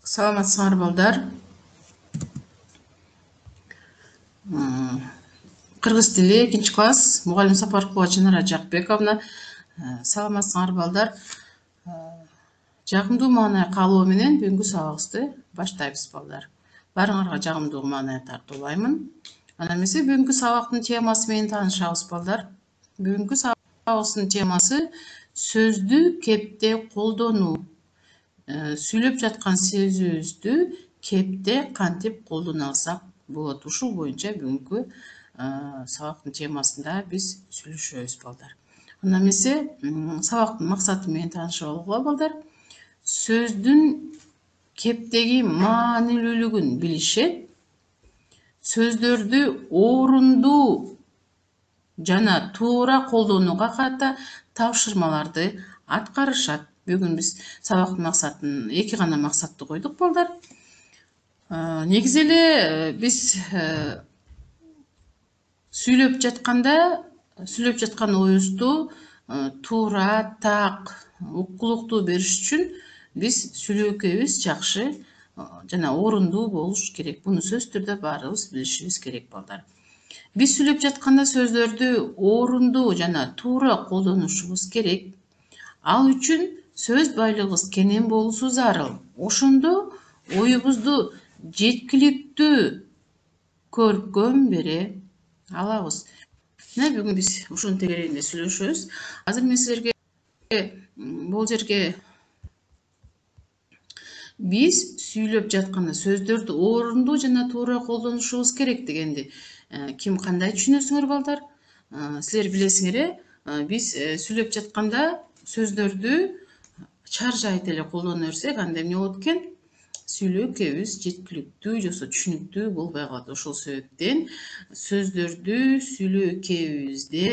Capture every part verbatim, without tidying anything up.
Саламатсыңар балдар. Кыргыз тили экинчи класс мугалим Сапаркулова Чынара Жакбековна. Саламатсыңар балдар. Жагымдуу маанай каалоо менен бүгүнкү сабагыбызды баштайбыз балдар. Баарыңарга жагымдуу маанай тартуулаймын. Ана эмесе бүгүнкү сабактын темасы менен таанышабыз балдар. Бүгүнкү сабагыбыздын темасы сөздү кепте колдонуу. Сүйлөп жаткан сөзүбүздү кепте кантип колдоно алсак болот. Ушул боюнча бүгүнкү сабактын темасында биз сүйлөшөбүз балдар. Анда эмесе сабактын максаты менен таанышып алгыла балдар. Сөздүн кептеги маанилүүлүгүн билишет, сөздөрдү орундуу жана туура колдонууга карата тапшырмаларды аткарышат. Бүгүн биз сабактын максатын эки гана максатты койдук балдар. Негизи эле биз сүйлөп жатканда, сүйлөп жаткан оюбузду туура, так, уккулуктуу бериш үчүн биз сүйлөкөбүз жакшы жана орундуу болуш керек. Буну сөзсүз түрдө баарыбыз билишибиз керек балдар. Биз сүйлөп жатканда сөздөрдү орундуу жана туура колдонушубуз керек. Ал үчүн сөз байлыгыбыз кенен болуусу зарыл. Ошондо оюбузду жеткиликтүү көркөм бере алабыз. Мына бүгүн биз ушунун тегерегинде сүйлөшөбүз. Азыр мен силерге бул жерге биз сүйлөп жатканда сөздөрдү орундуу жана туура колдонушубуз керек дегенди ким кандай түшүнөсүңөр балдар? Силер билесиңер, биз сүйлөп жатканда сөздөрдү чаржайт эле колдоно берсек, анда эмне болот экен? Сүйлөкөбүз жеткиликтүү же түшүнүктүү болбой калат. Ошол себептен сөздөрдү сүйлөкөбүздө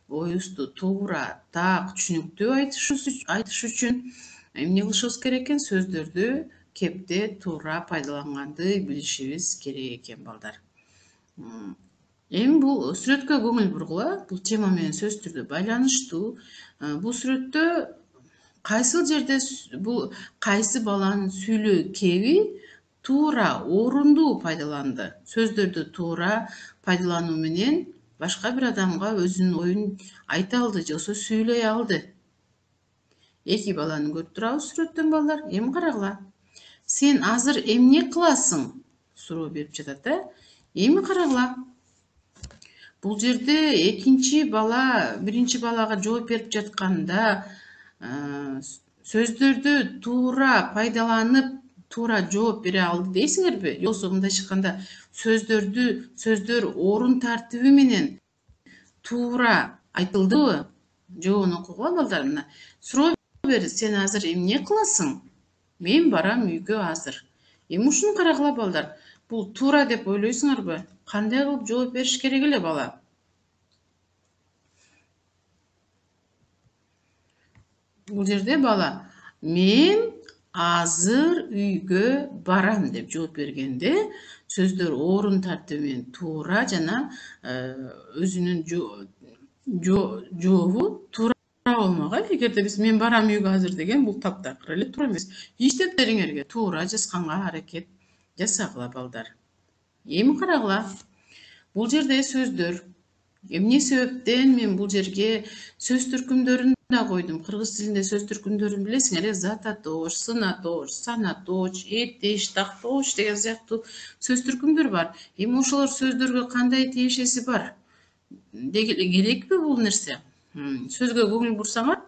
оюбузду туура, так, түшүнүктүү айтыш үчүн эмне кылышыбыз керек экен? Сөздөрдү кепте туура пайдаланганды билишибиз керек экен балдар. Эми бул сүрөткө көңүл бургула. Бул тема менен сөзсүз түрдө байланыштуу. Бул сүрөттө кайсыл жерде бул кайсы баланын сүйлөө кеби туура, орундуу пайдаланды. Сөздөрдү туура пайдалануу менен башка бир адамга өзүнүн оюн айта алды же болбосо сүйлөй алды. Эки баланы көрүп турабыз сүрөттөн балдар. Эми карагыла. Сен азыр эмне кыласың? Суроо берип жатат, э? Эми карагыла. Бул жерде экинчи бала биринчи балага жооп берип жатканда сөздөрдү туура пайдаланып, туура жооп бере алды дейсиңерби? Же болбосо мындайча айтканда сөздөрдү сөздөр орун тартиби менен туура айтылдыбы? Жообун окугула балдар. Мына суроо бер, сен азыр эмне кыласың? Мен барам үйгө азыр. Эми ушуну карагыла балдар. Бул туура деп ойлойсуңарбы? Кандай кылып жооп бериш керек эле бала? Бул жерде бала мен азыр үйгө барам деп жооп бергенде сөздөр орун тартиби менен туура жана өзүнүн жообу туура болмок. Эгерде биз мен барам үйгө азыр деген бул таптакыр эле туура эмес. Иштептериңерге туура жазганга аракет жасагыла балдар. Эми карагыла. Бул жерде сөздөр эмне себептен мен бул жерге сөз түркүмдөрүн да койдум. Кыргыз тилинде сөз түркүмдөрүн билесиңер, зататоч, сынаточ, санаточ, этеш, такточ деген сыяктуу сөз түркүмдөр бар. Эми ошолор сөздөргө кандай тиешеси бар? Керекпи бул нерсе? Сөзгө көңүл бурсаңар,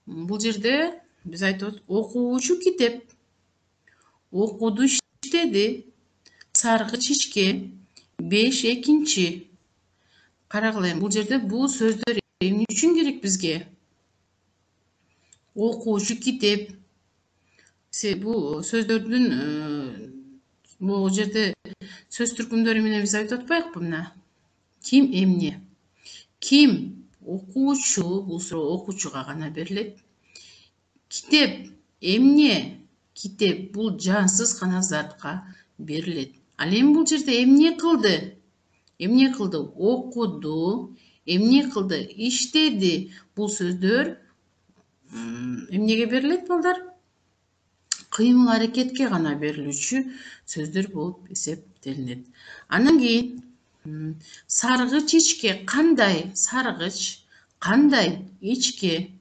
бул жерде биз айтып окуучу китеп, окуду иштеди, саргыч ичкен, беш экинчи. Карагыла, бул жерде бул сөздөр эмне үчүн керек бизге? Окуучу китеп. Бул сөздөрдүн бул жерде сөз түркүмдөрү менен биз айтып атпайбыкпы? Мына ким эмне? Ким? Окуучу. Бул суроо окуучуга гана берилет. Китеп эмне? Китеп бул жансыз гана затка берилет. Ал эми бул жерде эмне кылды? Эмне кылды? Окуду. Эмне кылды? Иштеди. Бул сөздөр эмнеге берилет балдар? кыймыл аракетке гана берилүүчү сөздөр болуп эсептелинет. Андан кийин саргыч ичке кандай, саргыч кандай, ичке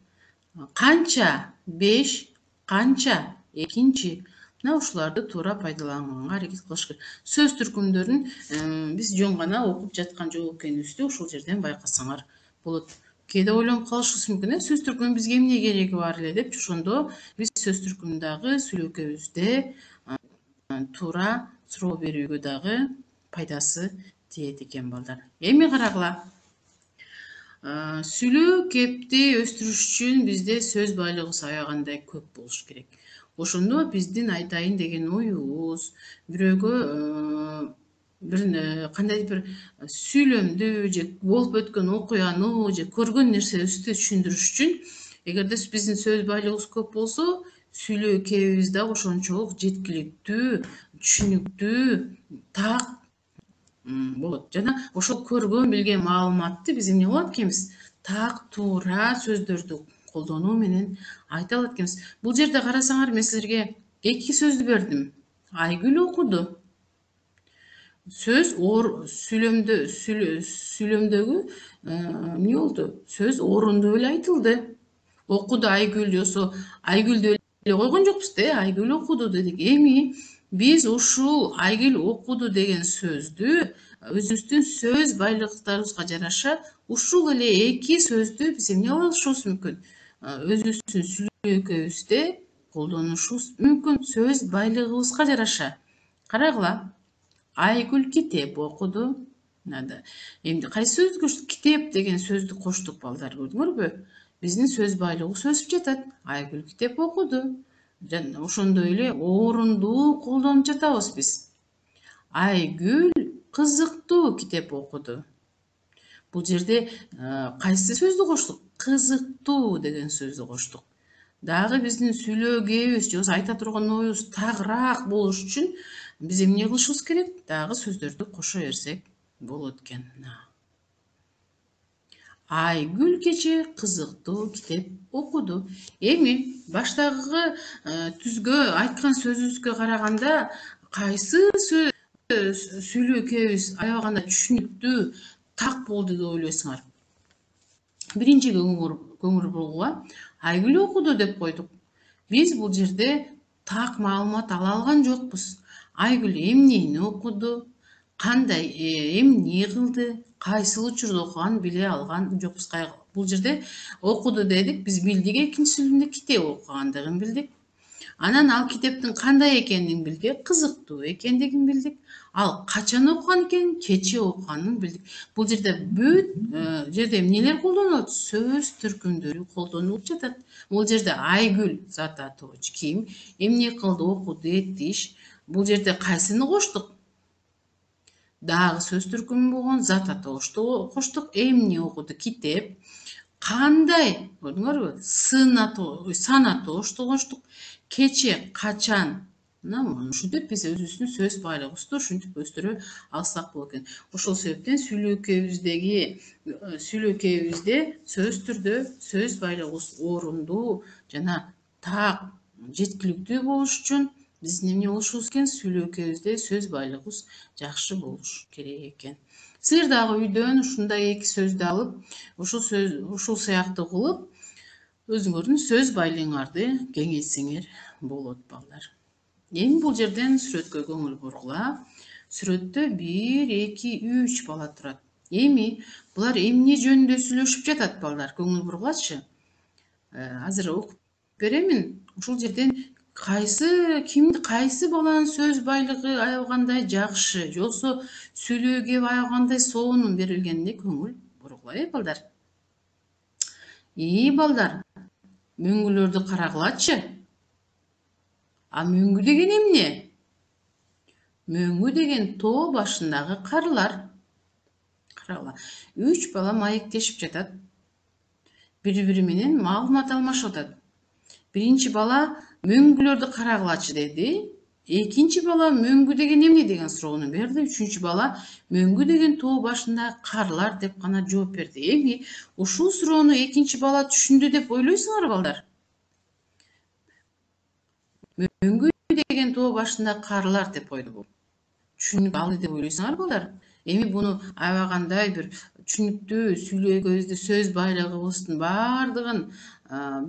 канча, беш, канча, экинчи. Мына ушуларды туура пайдаланганга аракет кылыш керек. Сөз түркүмдөрүн биз жөн гана окуп жаткан жок экенибизди ушул жерден байкасаңар болот. Кээде ойлонуп калышыбыз мүмкүн, э сөз түркүмүн бизге эмне кереги бар эле деп. Ошондо биз сөз түркүмүндагы сүйлөкөбүздө туура суроо берүүгө дагы пайдасы тиет экен балдар. Эми карагыла. Сүйлөө кепти өстүрүш үчүн бизде сөз байлыгыбыз аябагандай көп болуш керек. Ошондо биздин айтайын деген оюбуз, бирөөгө бир кандайдыр бир сүйлөмдү же болуп өткөн окуяны же көргөн нерсебизди түшүндүрүш үчүн эгерде биздин сөз байлыгыбыз көп болсо, сүйлөө кебибиз дагы ошончолук жеткиликтүү, түшүнүктүү, так болот. Жана ошол көргөн, билген маалыматты биз эмне кылат экенбиз? Так, туура сөздөрдү колдонуу менен айта алат экенбиз. Бул жерде карасаңар, мен силерге эки сөздү бердим. Айгүл окуду. Сөз ор сүйлөмдө сүйлөмдөгү эмне болду? Сөз орунду эле айтылды. Окуду Айгүл жосо Айгүлдү эле койгон жокпуз да, Айгүл окуду дедик. Эми биз ушул Айгүл окуду деген сөздү өзүбүздүн сөз байлыктарыбызга жараша ушул эле эки сөздү биз эмне кылышыбыз мүмкүн? Өзүбүздүн сүйлөкөбүздө колдонушубуз мүмкүн сөз байлыгыбызга жараша. Карагыла. Айгүл китеп окуду. Эмди кайсы сөздү коштук? Китеп деген сөздү коштук балдар, көрдүңөрбү? Биздин сөз байлыгыбыз өсүп жатат. Айгүл китеп окуду. Жана ошондой эле орунду колдонуп жатабыз биз. Айгүл кызыктуу китеп окуду. Бул жерде кайсы сөздү коштук? Кызыктуу деген сөздү коштук. Дагы биздин сүйлөө кебибиз же айта турган оюбуз тагыраак болуш үчүн биз эмне кылышыбыз керек? Дагы сөздөрдү кошо берсек болот экен. Айгүл кечээ кызыктуу китеп окуду. Эми баштагы түзгө айткан сөзүбүзгө караганда кайсы сүйлөө кебибиз аябаганда түшүнүктүү, так болду деп ойлойсуңар? Биринчи көңүл бурууга Айгүл окуду деп койдук. Биз бул жерде так маалымат ала алган жокпуз. Айгүл эмнени окуду, кандай эмне кылды, кайсыл учурда окуганын биле алган жокпуз. Бул жерде окуду дедик, биз билдик экинчи сүйлөмдө китеп окугандыгын билдик. Анан ал китептин кандай экенин билдик, кызыктуу экендигин билдик. Ал качан окуган экенин, кечээ окуганын билдик. Бул жерде бүт жерде эмнелер колдонулат? Сөз түркүмдөрү колдонулуп жатат. Бул жерде Айгүл зат атоочу ким, эмне кылды, окуду, этиш. Бул жерде кайсыны коштук? Дагы сөз түркүмү болгон зат атоочту коштук. Эмне окуду? Китеп. Кандай? Көрдүңөрбү? Сын атоо, сан атоочту коштук. Кече, качан? Мына ушинтип биз өзүбүздүн сөз байлыгыбызды ушинтип өстүрө алсак болот экен. Ошол себептен сүйлөкөбүздөгү сүйлөкөбүздө сөз түрдө сөз байлыгыбыз орунду жана так, жеткиликтүү болуш үчүн биздин эмне болушубуз экен? Сүйлөкөбүздө сөз байлыгыбыз жакшы болуш керек экен. Силер дагы үйдөн ушундай эки сөздү алып, ушул сөз ушул сыяктуу кылып, өзүңөрдүн сөз байлыгыңарды кеңейтсеңер болот балдар. Эми бул жерден сүрөткө көңүл бургула. Сүрөттө бир, эки, үч бала турат. Эми булар эмне жөнүндө сүйлөшүп жатат балдар? Көңүл бургулачы. Азыр окуп беремин. Ушул жерден кайсы ким кайсы баланын сөз байлыгы аябагандай жакшы, жоксо сүйлөө кеби аябагандай сонун берилгенине көңүл бургула, э балдар. И балдар, мөңгүлөрдү карагылачы. А мөңгү деген эмне? Мөңгү деген тоо башындагы карлар. Карагыла. Үч бала маектешип жатат. Бири-бири менен маалымат алмашып атат. Биринчи бала мөңгүлөрдү карагылачы деди. Экинчи бала мөңгү деген эмне деген суроону берди. Үчүнчү бала мөңгү деген тоо башындагы карлар деп гана жооп берди. Эми ушул суроону экинчи бала түшүндү деп ойлойсуңарбы балдар? Мөңгү деген тоо башында карылар деп койду бул. Түшүнүк алды деп ойлойсуңар балдар? Эми буну аябагандай бир түшүнүктүү сүйлөгөбүздү, сөз байлыгыбыздын баардыгын,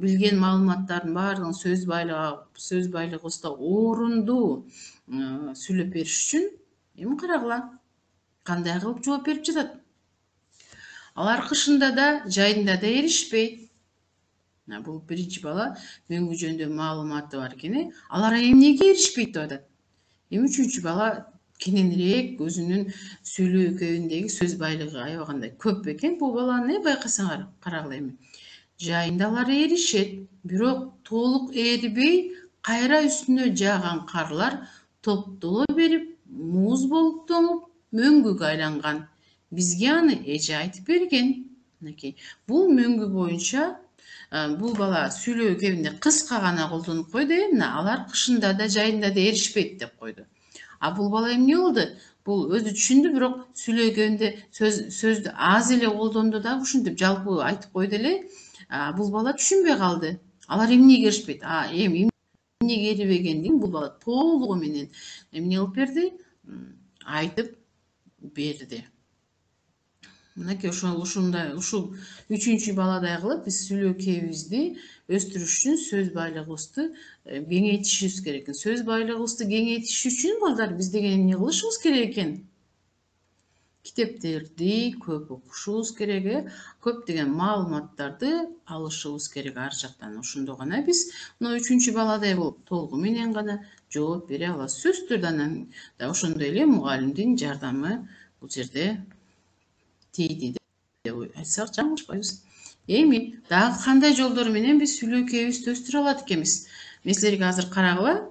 билген маалыматтардын баардыгын сөз байлыгы сөз байлыгыбызда орунду сүйлөп бериш үчүн эми карагыла кандай кылып жооп берип жатат. Алар кышында да, жайында да эришпейт. Бул биринчи бала мөңгү жөнүндө маалыматы бар экен. Алар эмнеге эришпейт деп атат. Эми үчүнчү бала кененирээк өзүнүн сүйлөө кебиндеги сөз байлыгы аябагандай көп экен. Бул баланы байкасаңар, карагыла эми. Жайында алар эришет, бирок толук эрибей, кайра үстүнө жааган карлар топтоло берип, муз болуп тоңуп, мөңгүгө айланган. Бизге аны эже айтып берген. Мынакей. Бул мөңгү боюнча бул бала сүйлөө кебинде кыска гана колдонуп койду. Мына алар кышында да, жайында да эришпейт деп койду. А бул бала эмне болду? Бул өзү түшүндү, бирок сүйлөө кебинде сөз сөздү аз эле колдонду дагы ушинтип жалпы айтып койду эле. Бул бала түшүнбөй калды. Алар эмнеге эришпейт? А эми эмнеге эрибегендигин бул бала толугу менен эмне кылып берди? Айтып берди. Мынакей ошол ушундай ушул үчүнчү баладай кылып биз сүйлөө кебибизди өстүрүш үчүн сөз байлыгыбызды кеңейтишибиз керек экен. Сөз байлыгыбызды кеңейтиш үчүн балдар биз деген эмне кылышыбыз керек экен? Китептерди көп окушубуз керек, көптөгөн маалыматтарды алышыбыз керек ар жактан. Ошондо гана биз мына үчүнчү баладай болуп толугу менен гана жооп бере алабыз. Сөзсүз түрдө анан да ошондой эле мугалимдин жардамы бул жерде тийди деп айтсак жаңылышпайбыз. Эми дагы кандай жолдор менен биз сүйлөө кебибизди өстүрө алат экенбиз? Мен силерге азыр карагыла,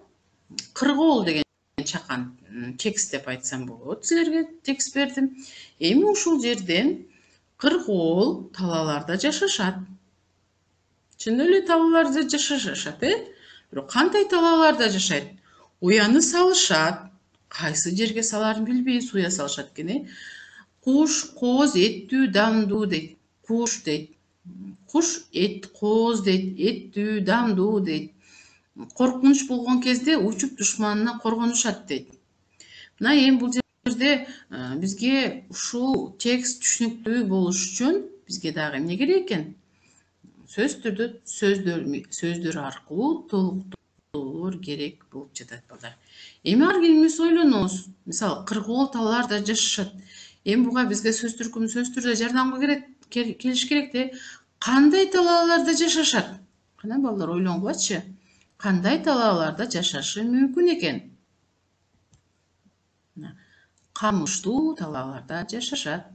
кыргоол деген чакан, текст деп айтсам болот. Силерге текст бердим. Эми ушул жерден кыргоол талааларда жашашат. Чын эле талааларда жашашат, э? Бирок кандай талааларда жашайт? Уяны салышат. Кайсы жерге саларын билбейбиз, уя салышат экен, э? Куш, кооз, эттүү, дамдуу дейт. Куш дейт. Куш эт, кооз дейт. Эттүү, дамдуу дейт. Коркунуч болгон кезде учуп душманынан коргонушат дейт. Мына эми бул жерде бизге ушул текст түшүнүктүү болуш үчүн бизге дагы эмне керек экен? Сөзсүз түрдө сөздөр сөздөр аркылуу толуктоолор керек болуп жатат балдар. Эми ар бирибиз ойлонобуз. Мисалы, кыргоол талааларда жашашат. Эми буга бизге сөз түркүм сөз түрдө жардамга келиш керек де. Кандай талааларда жашашат? Кана балдар ойлонгулачы. Кандай талааларда жашашы мүмкүн экен? Камыштуу талааларда жашашат.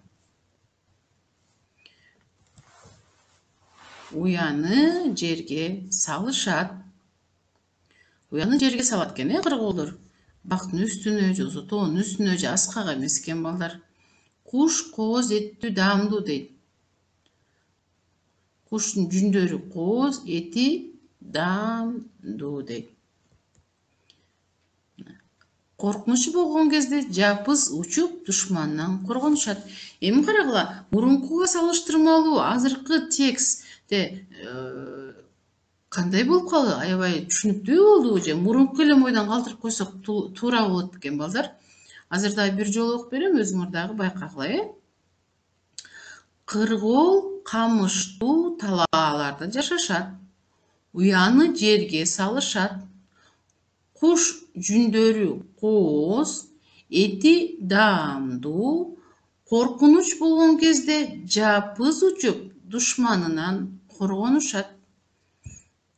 Уяны жерге салышат. Уяны жерге салат экен, э, кыргоолдор. Бактын үстүнө, же тоонун үстүнө, же аскага эмес экен балдар. Куш, кооз, эттүү, дамдуу дейт. Куштун жүндөрү кооз, эти дамдуу дейт. Коркунучу болгон кезде жапыз учуп душмандан коргонушат. Эми карагыла, мурункуга салыштырмалуу азыркы текстте кандай болуп калды? Аябай түшүнүктүү болдубу же мурунку эле ойдон калтырып койсок туура болот экен балдар. Азыр дагы бир жолу окуп берем, өзүңөр дагы байкагыла, э? Кыргоол камыштуу талааларда жашашат. Уяны жерге салышат. Куш жүндөрү кооз, эти даамдуу. Коркунуч болгон кезде жапыз учуп душманынан коргонушат.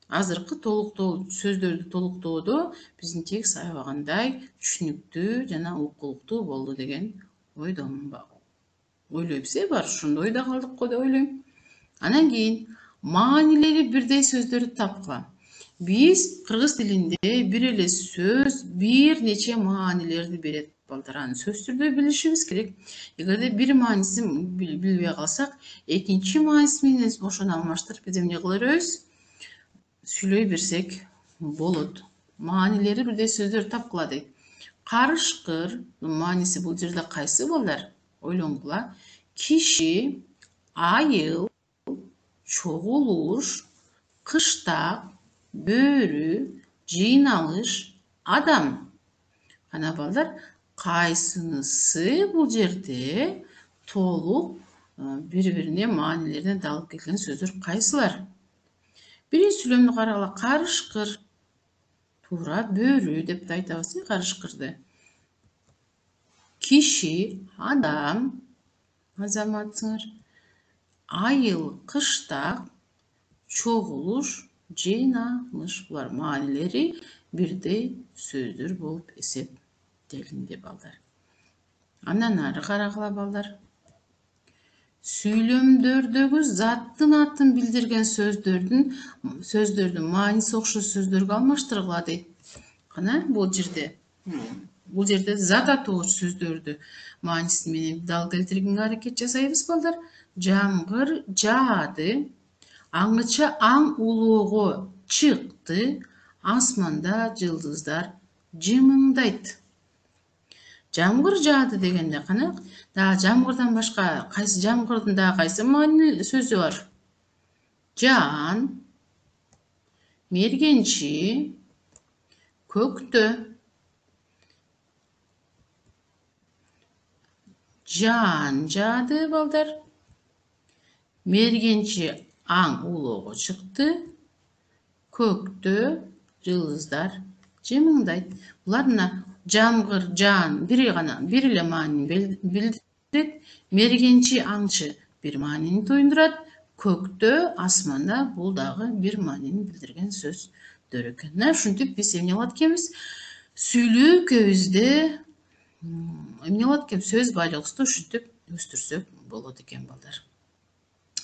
Азыркы толуктоо сөздөрдү толуктоодо биздин текст аябагандай түшүнүктүү жана окулуктуу болду деген ойдомун. Ойлойбуз, э, бар ошондой ойдо калдык го деп ойлойм. Анан кийин маанилери бирдей сөздөрдү тапкыла. Биз кыргыз тилинде бир эле сөз бир нече маанилерди берет балдар. Аны сөзсүз түрдө билишибиз керек. Эгерде бир маанисин билбей калсак, экинчи мааниси менен ошону алмаштырып биз эмне кыла беребиз? Сүйлөй берсек болот. Маанилери бирдей сөздөр тапкыла дейт. Карышкыр мааниси бул жерде кайсы балдар? Ойлонгула. Киши, айыл, чогулуш, кыштак, бөрү, жыйналыш, адам. Кана балдар, кайсынысы бул жерде толук бири-бирине маанилерине далып келген сөздөр кайсылар? Биринчи сүйлөмдү карагыла, карышкыр. Туура, бөрү деп айтабыз, карышкырды. Киши, адам, азаматсыңар. Айыл, кыштак, чогулуш, жыйналыш. Булар маанилери бирдей сөздөр болуп эсептелинди балдар. Андан ары карагыла балдар. Сүйлөмдөрдөгү заттын атын билдирген сөздөрдүн сөздөрдүн мааниси окшош сөздөргө алмаштыргыла дейт. Кана бул жерде бул жерде зат атоочу сөздөрдү маанисин менен дал келтиргенге аракет жасайбыз балдар. Жамгыр жаады, аңыча аң улоого чыкты, асманда жылдыздар жымыңдайт. Жамгыр жаады дегенде кана, дагы жамгырдан башка кайсы жамгырдын дагы кайсы маанилүү сөзү бар? Жаан, мергенчи, көктө. Жаан жаады балдар. Мергенчи аң улоого чыкты. Көктө жылдыздар жымыңдайт. Булар мына жамгыр, жаан бири гана бир эле маанини билдирет. Мергенчи аңчы бир маанини туюндурат. Көктө, асманда бул дагы бир маанини билдирген сөздөр экен. Мына ушинтип биз эмне кылат экенбиз? Сүйлөө экөөбүздө эмне кылат экен? Сөз байлыгыбызды ушинтип өстүрсөк болот экен балдар.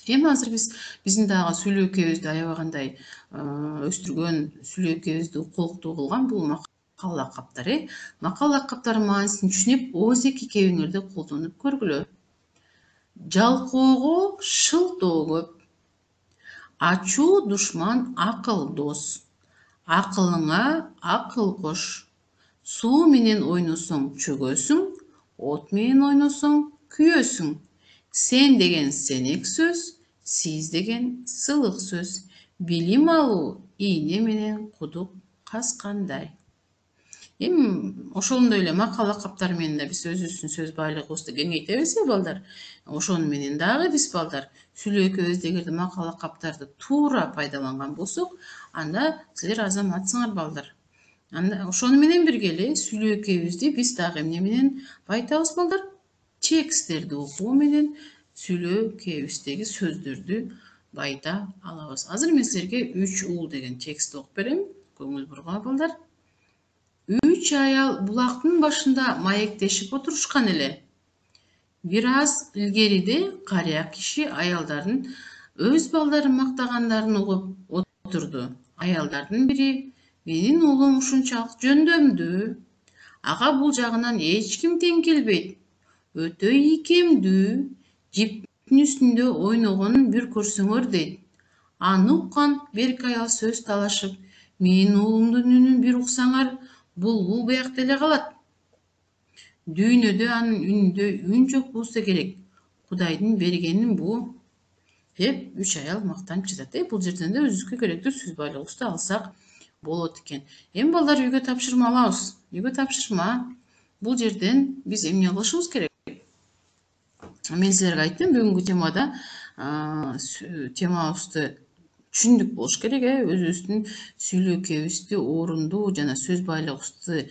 Эми азыр биз биздин дагы сүйлөө экөөбүздү аябагандай өстүргөн, сүйлөө экөөбүздү укулуктуу кылган бул макал лакаптар, э? Макал лакаптардын маанисин түшүнүп, ооз-эки кебиңерди колдонуп көргүлө. Жалкоого шылтоо көп. Ачуу душман акыл дос. Акылыңа акыл кош. Суу менен ойносоң чөгөсүң, от менен ойносоң күйөсүң. Сен деген сенек сөз, сиз деген сылык сөз. Билим алуу ийне менен кудук каскандай. Эми ошондой эле макал лакаптар менен да биз өзүбүздүн сөз байлыгыбызды кеңейтебиз, э балдар. Ошону менен дагы биз балдар сүйлөө экөөбүз эгерде макал лакаптарды туура пайдаланган болсок, анда силер азаматсыңар балдар. Анда ошону менен бирге эле сүйлөө экөөбүздү биз дагы эмне менен байтабыз балдар? Тексттерди окуу менен сүйлөө экөөбүздөгү сөздөрдү байта алабыз. Азыр мен силерге үч уул деген текстти окуп берем. Көңүл бургула балдар. Үч аял булактын башында маектешип отурушкан эле. Бир аз илгериде карыя киши аялдардын өз балдарын мактагандарын угуп отурду. Аялдардын бири: "Менин уулум ушунчалык жөндөмдүү. Ага бул жагынан эч ким тең келбейт. Өтө ийкемдүү. Жиптин үстүндө ойногонун бир көрсөңөр" дейт. Аны уккан берки аял сөз талашып: "Менин уулумдун үнүн бир уксаңар, булбул биякта эле калат. Дүйнөдө анын үнүндө үн жок болсо керек. Кудайдын бергени бу" деп үч аял мактанып жатат. Бул жерден да өзүбүзгө керектүү сөз байлыгыбызды алсак болот экен. Эми балдар үйгө тапшырма алабыз. Үйгө тапшырма. Бул жерден биз эмне кылышыбыз керек? Мен силерге айттым, бүгүнкү темада темабызды түшүндүк болуш керек, э? Өзүбүздүн сүйлөө экөөбүздү орунду жана сөз байлыгыбызды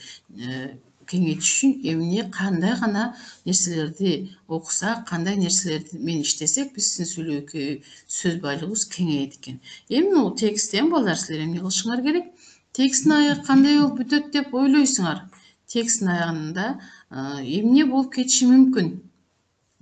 кеңейтиш үчүн эмне кандай гана нерселерди окусак, кандай нерселер менен иштесек, биздин сүйлөө экөө сөз байлыгыбыз кеңейет экен. Эми бул тексттен балдар силер эмне кылышыңар керек? Тексттин аягы кандай болуп бүтөт деп ойлойсуңар? Тексттин аягында эмне болуп кетиши мүмкүн?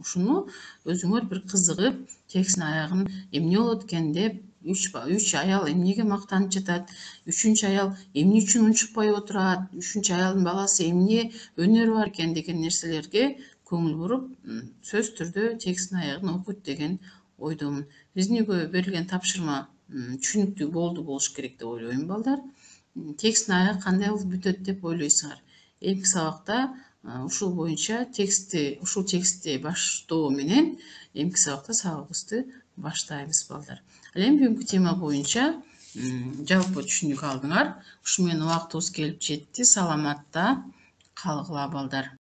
Ушуну өзүңөр бир кызыгып, тексттин аягын эмне болот экен деп, үч үч аял эмнеге мактанып жатат, үчүнчү аял эмне үчүн унчукпай отурат, үчүнчү аялдын баласы эмне өнөрү бар экен деген нерселерге көңүл буруп, сөзсүз түрдө тексттин аягын окуйт деген ойдомун. Биздин үйгө берилген тапшырма түшүнүктүү болду болуш керек деп ойлойм балдар. Тексттин аягы кандай болуп бүтөт деп ойлойсуңар? Эмки сабакта ушул боюнча текстти, ушул текстти баштоо менен эмки сабакта сабагыбызды баштайбыз балдар. Ал эми бүгүнкү тема боюнча жалпы түшүнүк алдыңар. Ушу менен убактыбыз келип жетти. Саламатта калгыла балдар.